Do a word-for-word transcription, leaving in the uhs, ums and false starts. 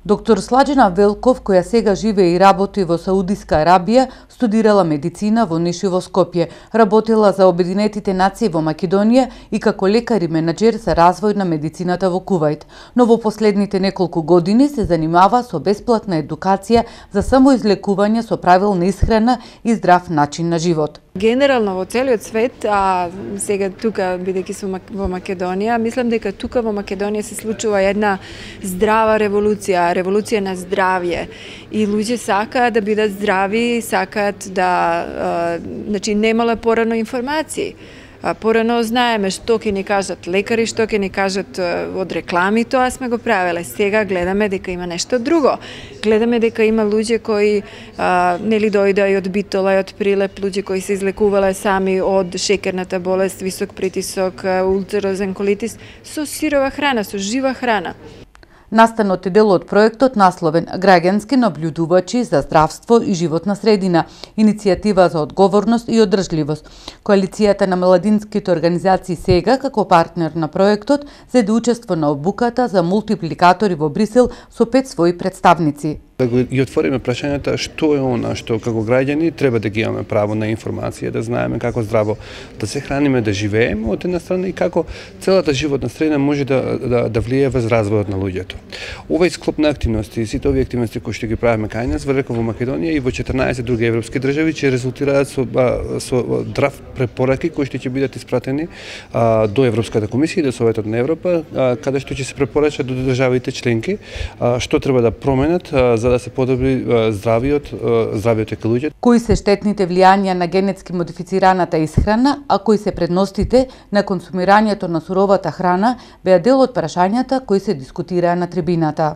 Доктор Сладжина Велков, која сега живее и работи во Саудиска Арабија, студирала медицина во Ниш и во Скопје, работела за Обединетите нации во Македонија и како лекар и менаџер за развој на медицината во Кувајт. Но во последните неколку години се занимава со бесплатна едукација за самоизлекување со правилна исхрана и здрав начин на живот. Генерално во целиот свет, а сега тука, бидејќи сум во Македонија, мислам дека тука во Македонија се случува една здрава револуција, револуција на здравје. И луѓе сакаат да бидат здрави, сакаат да, значи, немале порано информации. Порано знаеме што ќе ни кажат лекари, што ќе ни кажат од реклами, тоа сме го правеле. Сега гледаме дека има нешто друго. Гледаме дека има луѓе кои а, нели дојдоа и од Битола и од Прилеп, луѓе кои се излекувале сами од шекерната болест, висок притисок, улцерозен колитис, со сирова храна, со жива храна. Настанот е дел од проектот насловен «Граѓански наблюдувачи за здравство и животна средина», иницијатива за одговорност и одржливост. Коалицијата на младинските организации сега, како партнер на проектот, зеде учество на обуката за мултипликатори во Брисел со пет своји представници. Да ги отвориме прашањата што е она што како граѓани треба да ги имаме право на информација, да знаеме како здраво да се храниме, да живееме од една страна и како целата животна средина може да, да, да влие врз развојот на луѓето. Овој склоп на активности и сите овие активности кои што ги правиме кај нас во Македонија и во четрнаесет други европски држави ќе резултираат со, со драв препораки кои што ќе бидат испратени а, до Европската комисија и до Советот на Европа, а, каде што ќе се препорачат до државите членки а, што треба да променат а, за да се подобри здравиот, здравиот кај луѓето. Кои се штетните влијанија на генетски модифицираната исхрана, а кои се предностите на консумирањето на суровата храна, беа дел од прашањата кои се дискутираа на трибината.